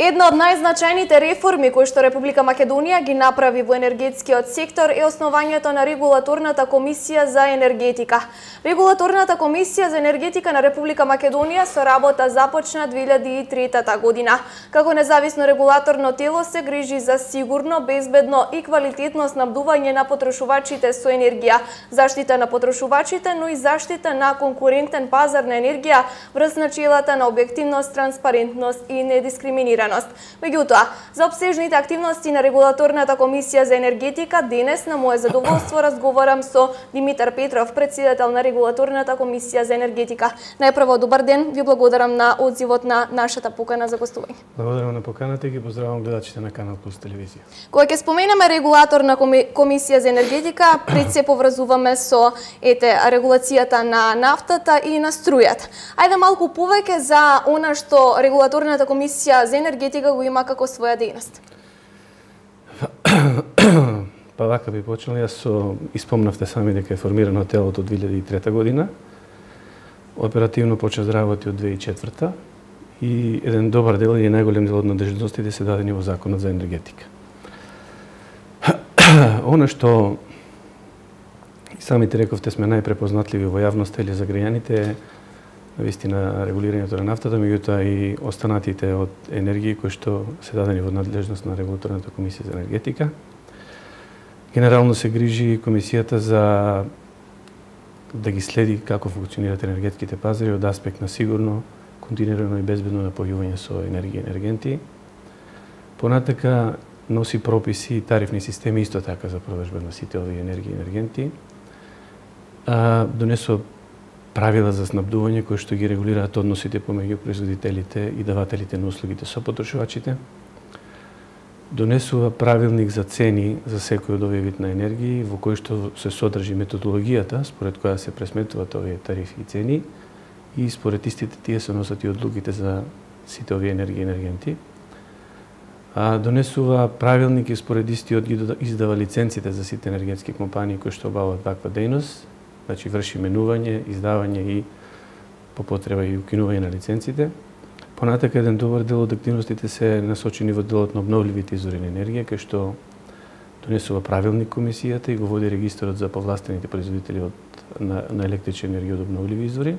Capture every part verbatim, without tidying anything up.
Една од најзначајните реформи кои што Република Македонија ги направи во енергетскиот сектор е основањето на Регулаторната комисија за енергетика. Регулаторната комисија за енергетика на Република Македонија со работа започна две илјади и трета година. Како независно регулаторно тело се грижи за сигурно, безбедно и квалитетно снабдување на потрошувачите со енергија, заштита на потрошувачите, но и заштита на конкурентен пазар на енергија врз начелата на објективност, транспарентност и недискриминираност. Меѓутоа, за обсежните активности на Регулаторната комисија за енергетика, денес на мое задоволство разговарам со Димитар Петров, председател на Регулаторната комисија за енергетика. Најпрво, добар ден, ви благодарам на одзивот на нашата покана за гостување. Благодарам на поканата и ги поздравувам гледачите на Канал Плюс телевизија. Кога ќе споменеме Регулаторна комисија за енергетика, пред се поврзуваме со ете регулацијата на нафтата и на струјата. Ајде малку повеќе за она што Регулаторната комисија за енергетика го има како своја дејност. Па вака би почнал, јас со испомнавте сами дека е формирано телото од две илјади и трета година. Оперативно почна да работи од две илјади и четврта и еден добар дел и најголем дел од надежностите се дадени во Законот за енергетика. Она што и самите рековте сме најпрепознатливи во јавноста или за граѓаните е навистина регулирањето на нафтата, меѓутоа и останатите од енергии кои што се дадени во надлежност на Регулаторната комисија за енергетика. Генерално се грижи комисијата за да ги следи како функционираат енергетските пазари од аспект на сигурно, континуирано и безбедно напојување со енергија и енергенти. Понатака носи прописи и тарифни системи исто така за продажба на сите овие енергии и енергенти. А, донесува правила за снабдување кои што ги регулираат односите помеѓу производителите и давателите на услугите со потрошувачите. Донесува правилник за цени за секој од овие вид на енергии, во кој што се содржи методологијата според која се пресметуваат овие тарифи и цени и според истите тие се носат и одлуките за сите овие енергии и енергенти. А, донесува правилник и според истиот ги издава лиценците за сите енергетски компании кои што обаваат ваква дејност. Значи врши менување, издавање и по потреба и укинување на лиценците. Понатака еден добар дел од активностите се насочени во делот на обновливите извори на енергија, кај што донесува правилник комисијата и го води регистарот за повластените производители од, на, на електрична енергија од обновливи извори.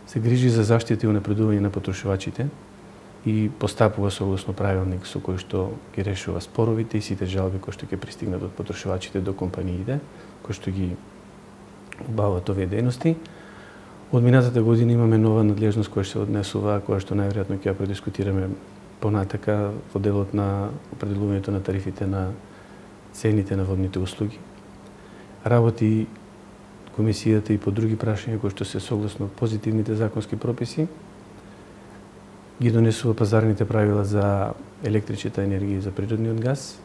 Се грижи за заштита и унапредување на потрошувачите и постапува согласно правилник со кој што ги решува споровите и сите жалби кои што ќе пристигнат од потрошувачите до компаниите, кои што ги обаваат овие дејности. Од минатата година имаме нова надлежност која се однесува, која што најверојатно ќе ја продискутираме понатака во делот на определувањето на тарифите на цените на водните услуги. Работи комисијата и по други прашања кои што се согласно позитивните законски прописи. Ги донесува пазарните правила за електричната енергија и за природниот газ.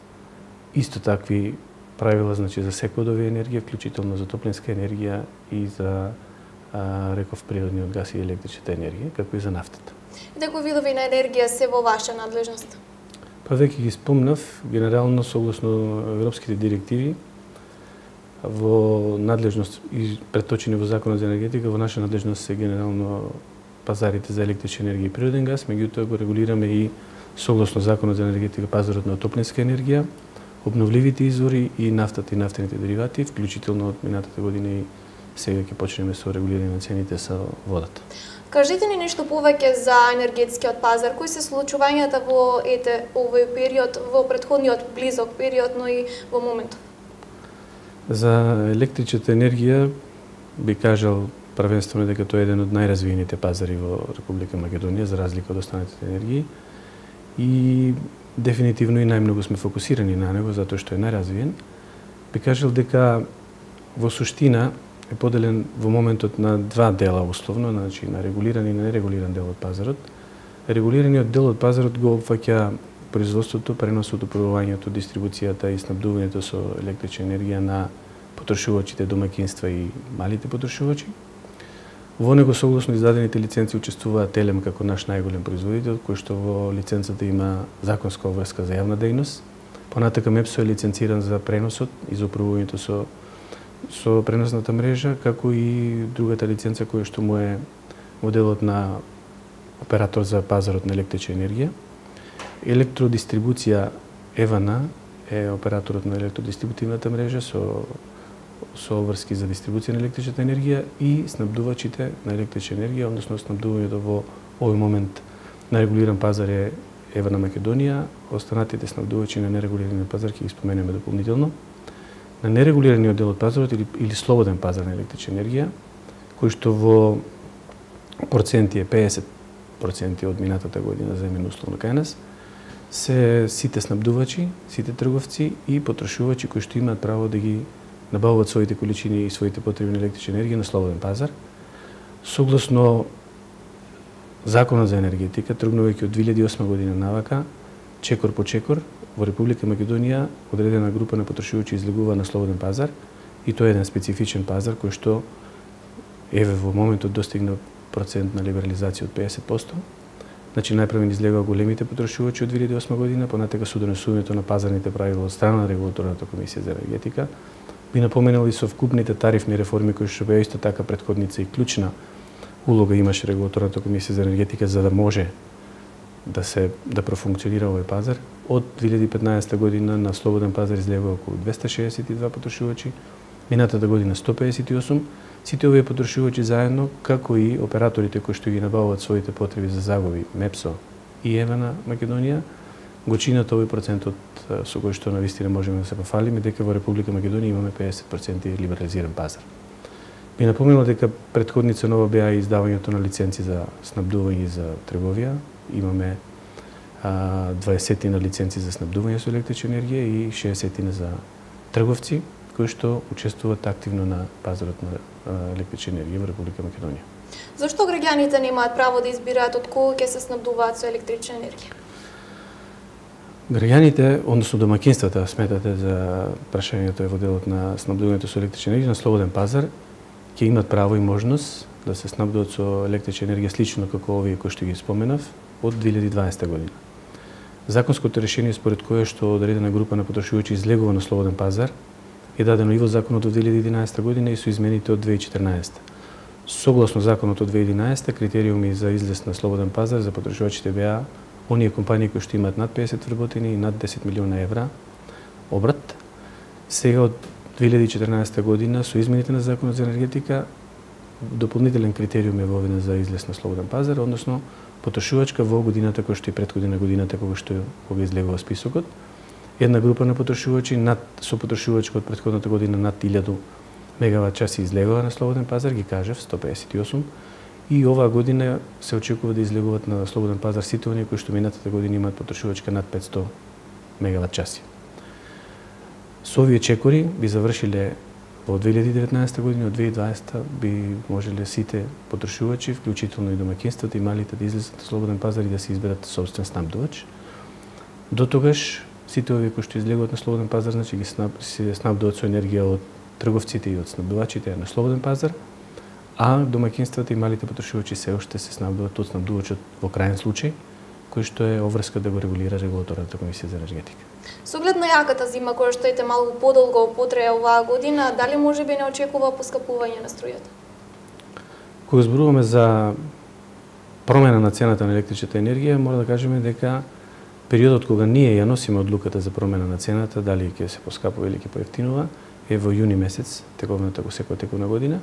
Исто такви правила значи за секој од овие енергија, вклучително за топлинска енергија и за а, реков природниот газ и електричната енергија, како и за нафтата. И кои видови на енергија се во ваша надлежност? Па веќе ги спомнав, генерално согласно европските директиви во надлежност и преточени во Законот за енергетика, во наша надлежност се генерално пазарите за електрична енергија и природен газ, меѓутоа го регулираме и согласно Законот за енергетика пазарот на топлинска енергија, обновливите извори и нафтата и нафтените деривати, вклучително од минатата година и сега ќе почнеме со регулирање на цените со водата. Кажете ни нешто повеќе за енергетскиот пазар. Кои се случувањата во ете овој период, во претходниот близок период, но и во моментов? За електричната енергија би кажал првенствено дека тоа е еден од најразвиените пазари во Република Македонија за разлика од останатите енергии и дефинитивно и најмногу сме фокусирани на него затоа што е најразвиен. Би кажал дека во суштина е поделен во моментот на два дела условно, значи на регулиран и на нерегулиран дел од пазарот. Регулираниот дел од пазарот го опфаќа производството, преносот, управувањето, дистрибуцијата и снабдувањето со електрична енергија на потрошувачите, домаќинства и малите потрошувачи. Во него согласно издадените лиценци учествуваат Телем како наш најголем производител, кој што во лиценцата има законска обврска за јавна дејност. Понатака МЕПСО е лиценциран за преносот и за управувањето со со преносната мрежа, како и другата лиценца која што му е моделот на оператор за пазарот на електрична енергија. Електродистрибуција ЕВН е операторот на електродистрибутивната мрежа со со обврски за дистрибуција на електричната енергија и снабдувачите на електрична енергија, односно снабдувањето во овој момент на регулиран пазар е ЕВН Македонија, останатите снабдувачи на нерегулираниот пазар ќе ги споменеме дополнително. На нерегулираниот дел од пазарот или, или слободен пазар на електрична енергија, кој што во проценти е педесет проценти од минатата година земено условно кај нас, се сите снабдувачи, сите трговци и потрошувачи кои што имаат право да ги набавуваат своите количини и своите потреби на електрична енергија на слободен пазар. Согласно Законот за енергетика, тргнувајќи од две илјади и осма година навака, чекор по чекор, во Република Македонија одредена група на потрошувачи излегува на слободен пазар и тоа е еден специфичен пазар кој што еве во моментот достигна процент на либерализација од педесет проценти. Значи најпрво излегува големите потрошувачи од две илјади и осма година, понатака со донесувањето на пазарните правила од страна на регулаторната комисија за енергетика. Би напоменал и совкупните тарифни реформи кои што беа исто така претходница и клучна улога имаше регулаторната комисија за енергетика за да може да се да профункционира овој пазар. Од две илјади и петнаесета година на слободен пазар излегува околу двесте шеесет и два потрошувачи, минатата година сто педесет и осум. Сите овие потрошувачи заедно, како и операторите кои што ги набавуваат своите потреби за загуби, МЕПСО и ЕВН Македонија, го чинат овој процентот со кој што навистина можеме да се пофалиме дека во Република Македонија имаме педесет проценти либерализиран пазар. Би напоменал дека претходница нова беа издавањето на лиценци за снабдување за трговија. Имаме а, дваесет на лиценци за снабдување со електрична енергија и шеесет за трговци кои што учествуваат активно на пазарот на електрична енергија во Република Македонија. Зошто граѓаните немаат право да избираат од кого ќе се снабдуваат со електрична енергија? Граѓаните, односно домаќинствата, сметате за прашањето е во делот на снабдувањето со електрична енергија на слободен пазар, ќе имат право и можност да се снабдуваат со електрична енергија слично како овие кои што ги споменав од две илјади и дваесета година. Законското решение според кое што одредена група на потрошувачи излегува на слободен пазар е дадено и во законот од две илјади и единаесета година и со измените од две илјади и четрнаесета. Согласно законот од две илјади и единаесета, критериуми за излез на слободен пазар за потрошувачите беа оние компании кои што имаат над педесет вработени и над десет милиона евра обрат. Сега од две илјади и четрнаесета година со измените на Законот за енергетика дополнителен критериум е воведен за излез на слободен пазар, односно потрошувачка во годината која што и претходна годината кога што кога излегува списокот. Една група на потрошувачи над со потрошувачка од претходната година над илјада мегават часи излегува на слободен пазар, ги кажав сто педесет и осум, и оваа година се очекува да излегуваат на слободен пазар сите оние кои што минатата година имаат потрошувачка над петсто мегават часи. Со овие чекори би завршиле во две илјади и деветнаесета година, од две илјади и дваесета би можеле сите потрошувачи, вклучително и домаќинствата и малите да излезат на слободен пазар и да се изберат собствен снабдувач. До тогаш сите овие кои што излегуваат на слободен пазар, значи ги снаб, се снабдуваат со енергија од трговците и од снабдувачите на слободен пазар, а домаќинствата и малите потрошувачи се уште се снабдуваат од снабдувачот во крајен случај, кој што е обврска да го регулира регулаторната комисија за енергетика. Со оглед на јаката зима која што ете малку подолго потрае оваа година, дали можеби не очекува поскапување на струјата? Кога зборуваме за промена на цената на електричната енергија, мора да кажеме дека периодот кога ние ја носиме одлуката за промена на цената, дали ќе се поскапува или ќе поевтинува, е во јуни месец, тековната го секоја тековна година.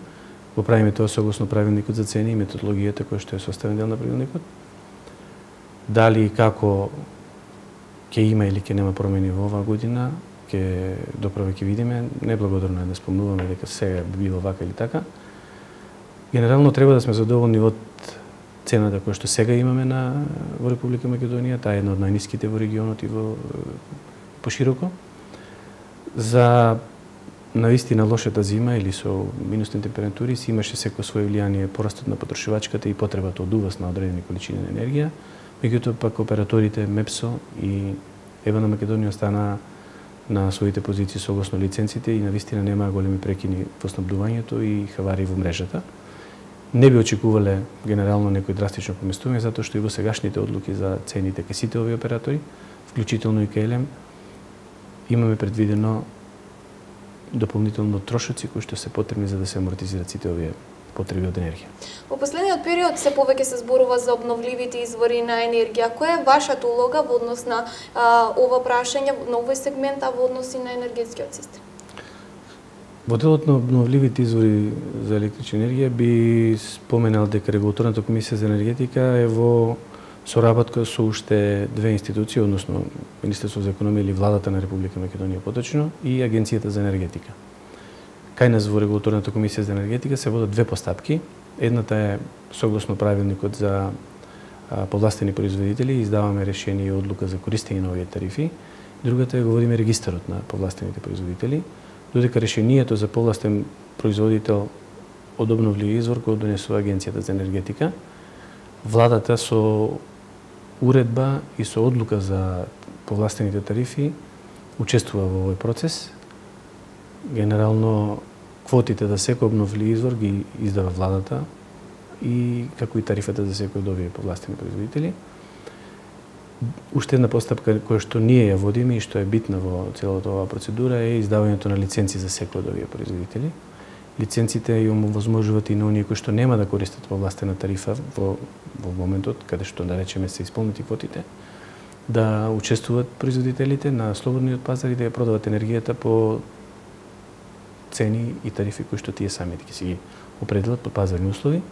Го правиме тоа согласно правилникот за цени и методологијата која што е составен дел на правилникот. Дали и како ќе има или ќе нема промени во оваа година, ќе доправо ќе видиме. Неблагодарно е да спомнуваме дека сега би било вака или така. Генерално треба да сме задоволни од цената која што сега имаме на во Република Македонија, таа е една од најниските во регионот и во пошироко. За навистина лошата зима или со минусни температури си имаше секој своје влијание порастот на потрошувачката и потребата од увоз на одредени количини на енергија. Меѓутоа пак операторите МЕПСО и ЕВН Македонија остана на своите позиции согласно лиценците и навистина немаа големи прекини во снабдувањето и хавари во мрежата. Не би очекувале генерално некој драстично поместување, затоа што и во сегашните одлуки за цените кај сите овие оператори, вклучително и кај ЕЛЕМ, имаме предвидено дополнително трошоци кои што се потребни за да се амортизираат сите овие потреби од енергија. Во последниот период се повеќе се зборува за обновливите извори на енергија. Која е вашата улога во однос на а, ова прашање, на овој сегмент, а во однос и на енергетскиот систем? Во делот на обновливите извори за електрична енергија би споменал дека Регулаторната комисија за енергетика е во соработка со уште две институции, односно Министерството за економија или Владата на Република Македонија поточно и Агенцијата за енергетика. Кај нас во Регулаторната комисија за енергетика се водат две постапки. Едната е согласно правилникот за повластени производители, издаваме решение и одлука за користење на овие тарифи. Другата е го водиме регистарот на повластените производители, додека решението за повластен производител од обновливи извор го донесува Агенцијата за енергетика. Владата со уредба и со одлука за повластените тарифи учествува во овој процес. Генерално квотите за секој обновливи извор ги издава владата и како и тарифата за секој од овие повластени производители. Уште една постапка која што ние ја водиме и што е битна во целата оваа процедура е издавањето на лиценци за секој од овие производители. Лиценците им овозможуваат и на оние кои што нема да користат повластена тарифа во, во моментот каде што да речеме се исполнети квотите, да учествуваат производителите на слободниот пазар и да ја продават енергијата по цени и тарифи кои што тие самите ќе си ги определат по пазарни услови.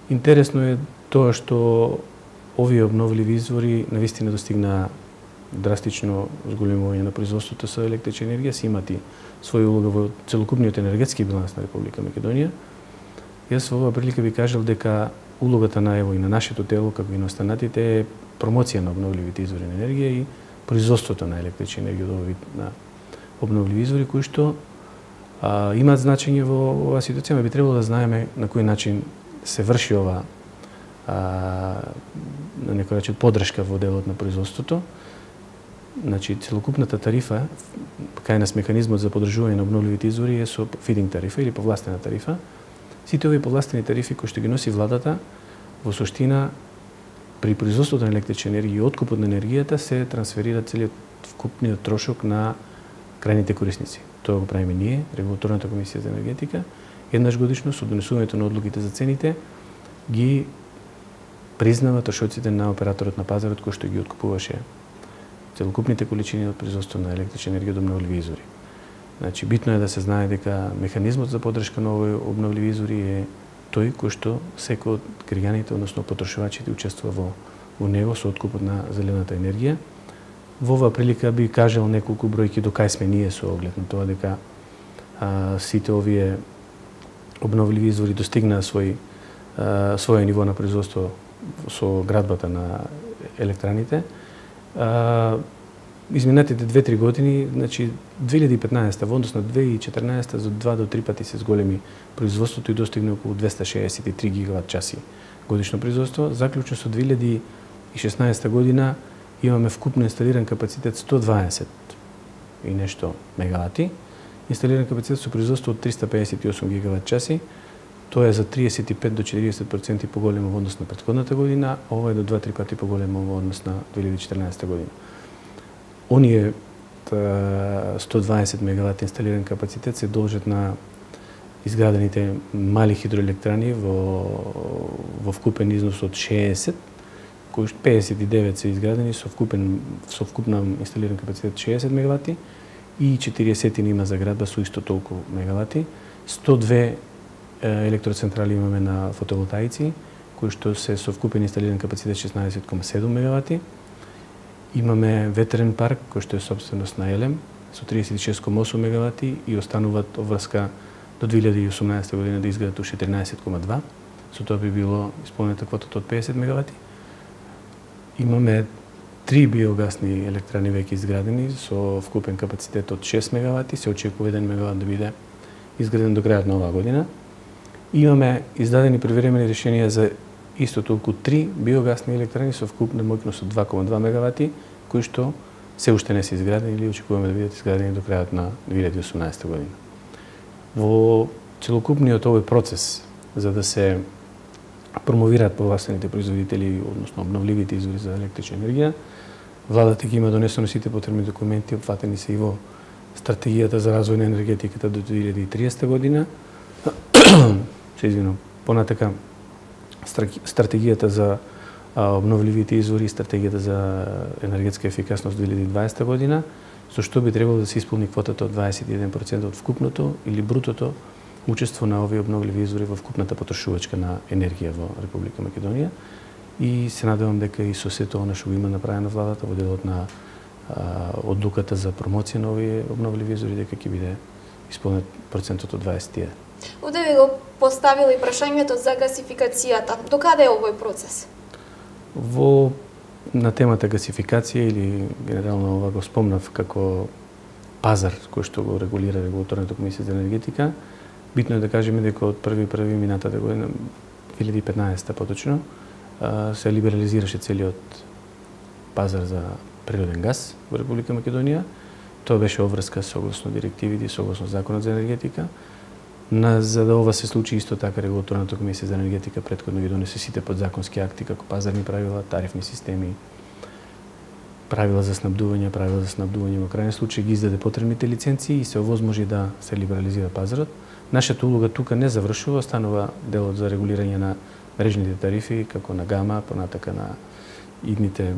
Интересно е тоа што овие обновливи извори навистина достигнаа драстично зголемување на производството со електрична енергија, си имат и своја улога во целокупниот енергетски биланс на Република Македонија. Јас во оваа прилика би кажал дека улогата на ево и на нашето тело, како и на останатите, е промоција на обновливите извори на енергија и производството на електрична енергија од овој вид на обновливи извори кои што а, имаат значење во оваа ситуација, но би требало да знаеме на кој начин се врши ова а, на некој начин подршка во делот на производството. Значи, целокупната тарифа, кај нас механизмот за подржување на обновливите извори е со фидинг тарифа или повластена тарифа. Сите овие повластени тарифи кои што ги носи владата, во суштина, при производството на електрична енергија и откупот на енергијата се трансферира целиот вкупниот трошок на крајните корисници. Тоа го правиме ние, Регулаторната комисија за енергетика. Еднаш годишно со донесувањето на одлуките за цените ги признава трошоците на операторот на пазарот кој што ги откупуваше целокупните количини од производство на електрична енергија од обновливи извори. Значи, битно е да се знае дека механизмот за подршка на овој обновливи извори е тој кој што секој од граѓаните, односно потрошувачите, учествува во, во него со откупот на зелената енергија. Во оваа прилика би кажал неколку бројки до кај сме ние со оглед на тоа дека а, сите овие обновливи извори достигнаа свој а, своје ниво на производство со градбата на електраните. А, изминатите две-три години, значи две илјади и петнаесета во однос на две илјади и четрнаесета за два до три пати се зголеми производството и достигна околу двеста шеесет и три гигават часи годишно производство. Заклучно со две илјади и шеснаесета година имаме вкупно инсталиран капацитет сто дваесет и нешто мегавати. Инсталиран капацитет со производство од триста пеесет и осум гигават часи. Тоа е за триесет и пет до четириесет проценти поголемо во однос на претходната година, а ова е до два-три пати поголемо во однос на две илјади и четрнаесета година. Оние сто дваесет мегавати инсталиран капацитет се должат на изградените мали хидроелектрани во, во вкупен износ од шеесет, кои пеесет и девет се изградени со вкупен со вкупна инсталиран капацитет шеесет мегавати и четириесет има заградба со исто толку мегавати. сто две електроцентрали имаме на фотоволтаици, кои што се со вкупен инсталиран капацитет шеснаесет кома седум мегавати. Имаме ветерен парк кој што е собственост на Елем со триесет и шест кома осум мегавати и остануваат обврска до две илјади и осумнаесета година да изградат уште тринаесет кома два. Со тоа би било исполнета квотата од пеесет мегавати. Имаме три биогасни електрани веќе изградени со вкупен капацитет од шест мегавати, се очекува еден мегават да биде изграден до крајот на оваа година. Имаме издадени привремени решенија за исто толку три биогасни електрани со вкупна моќност од два кома два мегавати, кои што се уште не се изградени или очекуваме да бидат изградени до крајот на две илјади и осумнаесета година. Во целокупниот овој процес за да се промовираат повластените производители, односно обновливите извори за електрична енергија, владата ги има донесено сите потребни документи, опфатени се и во стратегијата за развој на енергетиката до две илјади и триесета година. се извинувам, понатака стратегијата за обновливите извори и стратегијата за енергетска ефикасност две илјади и дваесета година, со што би требало да се исполни квотата од дваесет и еден проценти од вкупното или брутото учество на овие обновливи извори во вкупната потрошувачка на енергија во Република Македонија. И се надевам дека и со сето она што го има направено владата во делот на а, одлуката за промоција на овие обновливи извори, дека ќе биде исполнет процентот од дваесет и еден. Овде ви го поставила и прашањето за гасификацијата. До каде е овој процес? Во на темата гасификација или генерално ова го спомнав како пазар кој што го регулира Регулаторната комисија за енергетика, битно е да кажеме дека од први први минатата година, две илјади и петнаесета поточно, се либерализираше целиот пазар за природен газ во Република Македонија. Тоа беше обврска согласно директивите и согласно Законот за енергетика. На, за да ова се случи, исто така Регулаторната комисија за енергетика претходно ги донесе сите подзаконски акти како пазарни правила, тарифни системи, правила за снабдување, правила за снабдување во крајен случај ги издаде потребните лиценци и се овозможи да се либерализира пазарот. Нашата улога тука не завршува, останува делот за регулирање на мрежните тарифи, како на ГАМА, понатака на идните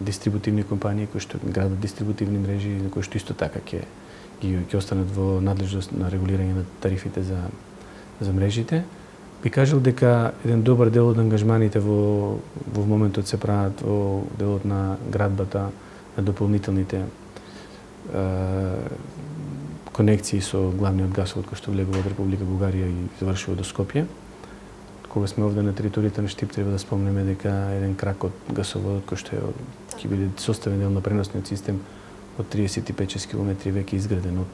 дистрибутивни компании кои што градат дистрибутивни мрежи, кои што исто така ќе ги ќе останат во надлежност на регулирање на тарифите за за мрежите. Би кажал дека еден добар дел од ангажманите во во моментот се прават во делот на градбата на дополнителните е, конекции со главниот гасовод кој што влегува од Република Бугарија и завршува до Скопје. Кога сме овде на територијата на Штип, треба да спомнеме дека еден крак од гасоводот кој што е ќе биде составен дел на преносниот систем од триесет и пет километри веќе изграден од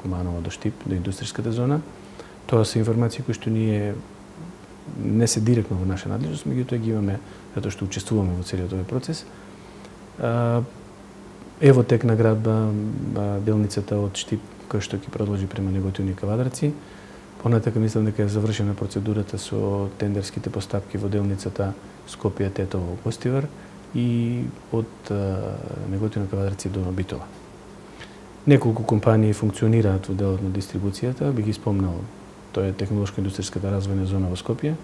Куманово до Штип, до индустријската зона. Тоа се информации кои што ние не се директно во наша надлежност, меѓутоа ги имаме затоа што учествуваме во целиот овој процес. Ево тек на градба делницата од Штип кој што ќе продолжи према Неготино и Кавадарци. Понатака мислам дека е завршена процедурата со тендерските постапки во делницата Скопје Тетово Гостивар и од Неготино Кавадарци до Битола. Неколку компании функционираат во делот на дистрибуцијата, би ги спомнал. Тоа е технолошко-индустријската развојна зона во Скопје.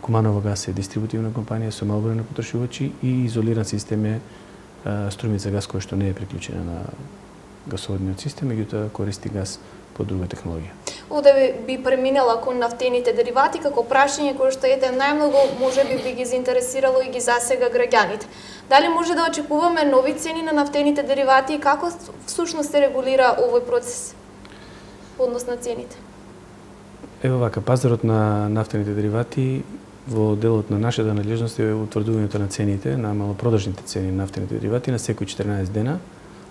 Куманово газ е дистрибутивна компанија со мал број на потрошувачи и изолиран систем е Струмица газ кој што не е приклучена на гасоводниот систем, меѓутоа користи газ по друга технологија. Овде би преминала кон нафтените деривати како прашање кое што ете најмногу можеби би ги заинтересирало и ги засега граѓаните. Дали може да очекуваме нови цени на нафтените деривати и како всушност се регулира овој процес во однос на цените? Ево вака, пазарот на нафтените деривати во делот на нашата надлежност е утврдувањето на цените, на малопродажните цени на нафтените деривати на секои четрнаесет дена.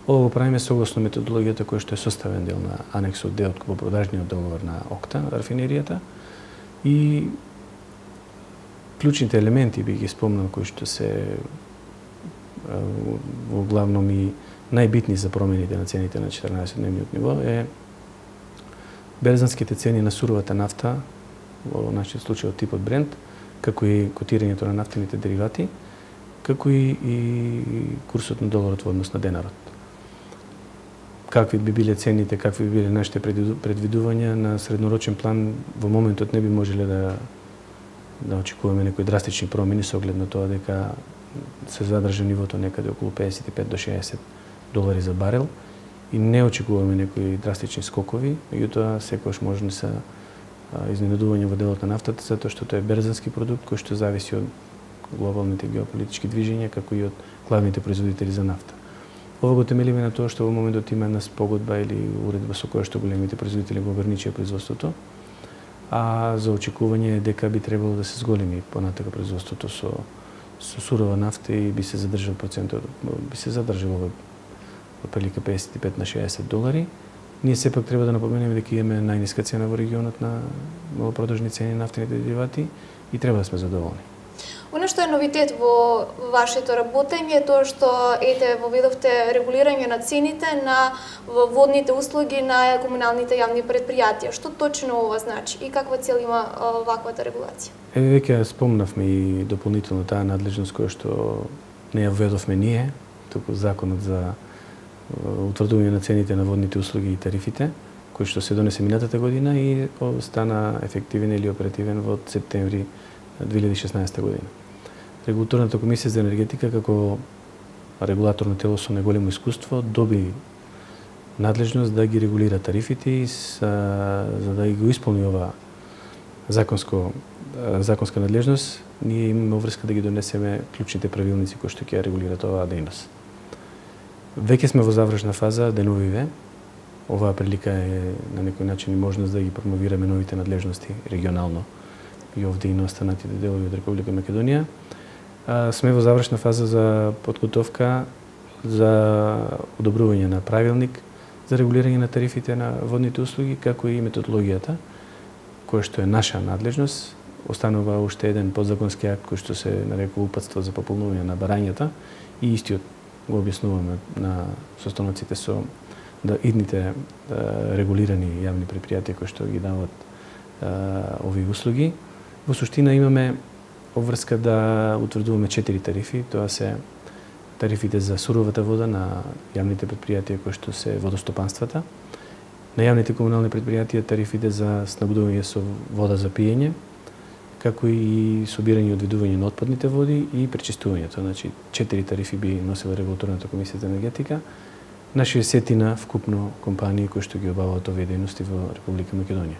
Ова го правиме согласно методологијата која што е составен дел на анексот Д од купопродажниот договор на ОКТА, на рафинеријата. И клучните елементи би ги спомнал кои што се во главном и најбитни за промените на цените на четрнаесет дневниот ниво е берзанските цени на суровата нафта, во нашиот случај од типот Брент, како и котирањето на нафтените деривати, како и, и курсот на доларот во однос на денарот. Какви би биле цените, какви би биле нашите предвидувања на среднорочен план, во моментот не би можеле да да очекуваме некои драстични промени со оглед на тоа дека се задржа нивото некаде околу педесет и пет до шеесет долари за барел и не очекуваме некои драстични скокови, меѓутоа секогаш можни се изненадување во делот на нафтата затоа што тоа е берзански продукт кој што зависи од глобалните геополитички движења како и од главните производители за нафта. Ова го темелиме на тоа што во моментот има една спогодба или уредба со која што големите производители го ограничија производството, а за очекување е дека би требало да се зголеми понатака производството со со сурова нафта и би се задржал процентот, би се задржал во прилика педесет и пет на шеесет долари. Ние сепак треба да напоменеме дека имаме најниска цена во регионот на малопродажни цени на нафтените деривати и треба да сме задоволни. Оно што е новитет во вашето работење е тоа што ете воведовте регулирање на цените на водните услуги на комуналните јавни предпријатија. Што точно ова значи и каква цел има ваквата регулација? Еве веќе спомнавме и дополнително таа надлежност која што не ја введовме ние, туку законот за утврдување на цените на водните услуги и тарифите, кој што се донесе минатата година и стана ефективен или оперативен во септември две илјади и шеснаесетта година. Регулаторната комисија за енергетика како регулаторно тело со најголемо искуство доби надлежност да ги регулира тарифите и за, за да го исполни ова законско законска надлежност, ние имаме врска да ги донесеме клучните правилници кои што ќе регулираат оваа дејност. Веќе сме во завршна фаза деновиве. Оваа прилика е на некој начин и можност да ги промовираме новите надлежности регионално и овде и на останатите делови од Република Македонија. А, сме во завршна фаза за подготовка за одобрување на правилник за регулирање на тарифите на водните услуги, како и методологијата, која што е наша надлежност. Останува уште еден подзаконски акт кој што се нарекува упатство за пополнување на барањата и истиот го објаснуваме на состаноците со да идните да, регулирани јавни предпријатија кои што ги дават да, овие услуги. Во суштина имаме обврска да утврдуваме четири тарифи. Тоа се тарифите за суровата вода на јавните предпријатија кои што се водостопанствата, на јавните комунални предпријатија тарифите за снабдување со вода за пиење, како и собирање и одведување на отпадните води и пречистувањето. Значи, четири тарифи би носила регулаторната комисија за енергетика на шеесетина вкупно компании кои што ги обаваат овие дејности во Република Македонија.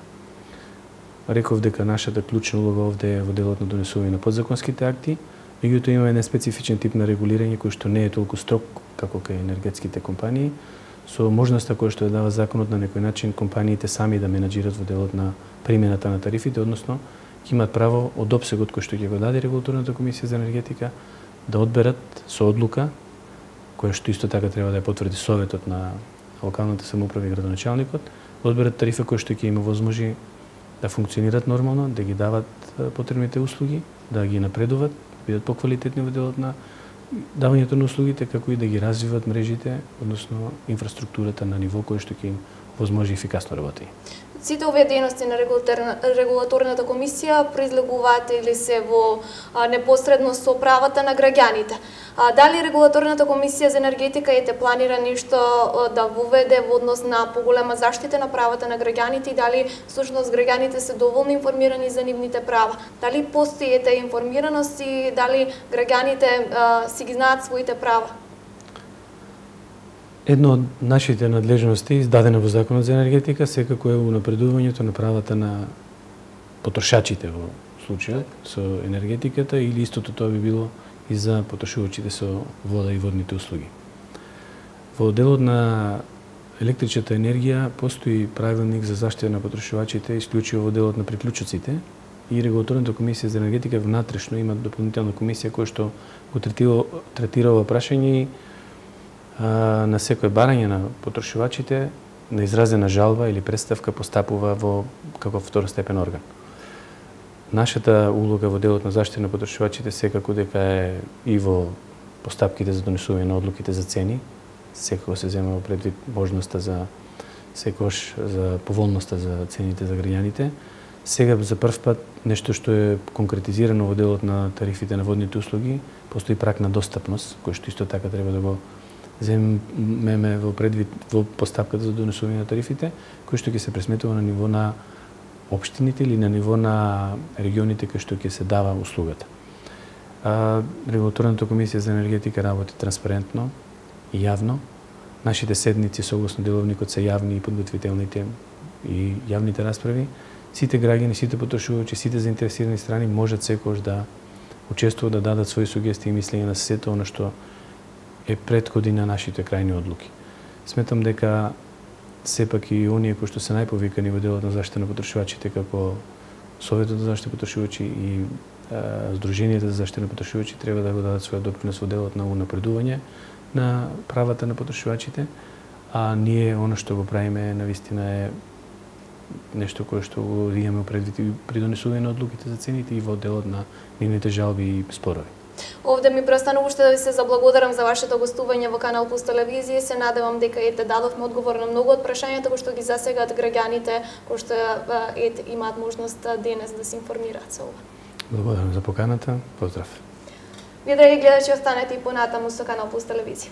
Реков дека нашата клучна улога овде е во делот на донесување на подзаконските акти, меѓутоа има еден специфичен тип на регулирање кој што не е толку строг како кај енергетските компании, со можноста која што ја дава законот на некој начин компаниите сами да менаџират во делот на примената на тарифите, односно ќе имаат право од опсегот кој што ќе го даде регулаторната комисија за енергетика да одберат со одлука, која што исто така треба да ја потврди советот на локалната самоуправа и градоначалникот, да одберат тарифа која што ќе им возможи да функционират нормално, да ги дават потребните услуги, да ги напредуват, бидат поквалитетни во делот на давањето на услугите, како и да ги развиват мрежите, односно инфраструктурата на ниво кој што ќе им возможи ефикасно работење. Сите овие дејности на регулаторната комисија произлегуваат или се во непосредно со правата на граѓаните. А, дали регулаторната комисија за енергетика ете планира нешто да воведе во однос на поголема заштита на правата на граѓаните и дали всушност граѓаните се доволно информирани за нивните права? Дали постои ете информираност и дали граѓаните а, си ги знаат своите права? Едно од нашите надлежности, издадена во Законот за енергетика, секако е унапредувањето на правата на потрошачите во случајот со енергетиката, или истото тоа би било и за потрошувачите со вода и водните услуги. Во делот на електричната енергија постои правилник за заштита на потрошувачите, исклучиво во делот на приклучоците, и регулаторната комисија за енергетика внатрешно има дополнителна комисија која што го третира, третира ова прашање и на секој барање на потрошувачите на изразена жалба или представка постапува во како второстепен орган. Нашата улога во делот на заштита на потрошувачите секако дека е и во постапките за донесување на одлуките за цени, секако се зема во предвид можноста за секош за поволноста за цените за граѓаните. Сега за прв пат нешто што е конкретизирано во делот на тарифите на водните услуги, постои праг на достапност, кој што исто така треба да го земеме во предвид во постапката за донесување на тарифите, кој што ќе се пресметува на ниво на општините или на ниво на регионите кои што ќе се дава услугата. А, регулаторната комисија за енергетика работи транспарентно и јавно. Нашите седници согласно деловникот се јавни и подготвителните и јавните расправи. Сите граѓани, сите потрошувачи, сите заинтересирани страни можат секогаш да учествуваат, да дадат своји сугестии и мислења на сето она што е претходи на нашите крајни одлуки. Сметам дека сепак и оние кои што се најповикани во делот на заштита на потрошувачите, како Советот за заштита на потрошувачи и а, Сдруженијата за заштита на потрошувачи, треба да го дадат својот допринос во делот на унапредување на правата на потрошувачите, а ние она што го правиме навистина е нешто кое што го имаме предвид при донесување на одлуките за цените и во делот на нивните жалби и спорови. Овде ми преостанува уште да ви се заблагодарам за вашето гостување во Канал Плюс телевизија. Се надевам дека ете дадовме одговор на многу од прашањата кои што ги засегаат граѓаните, кои што ете имаат можност денес да се информираат со ова. Благодарам за поканата. Поздрав. Вие, драги гледачи, останете и понатаму со Канал Плюс телевизија.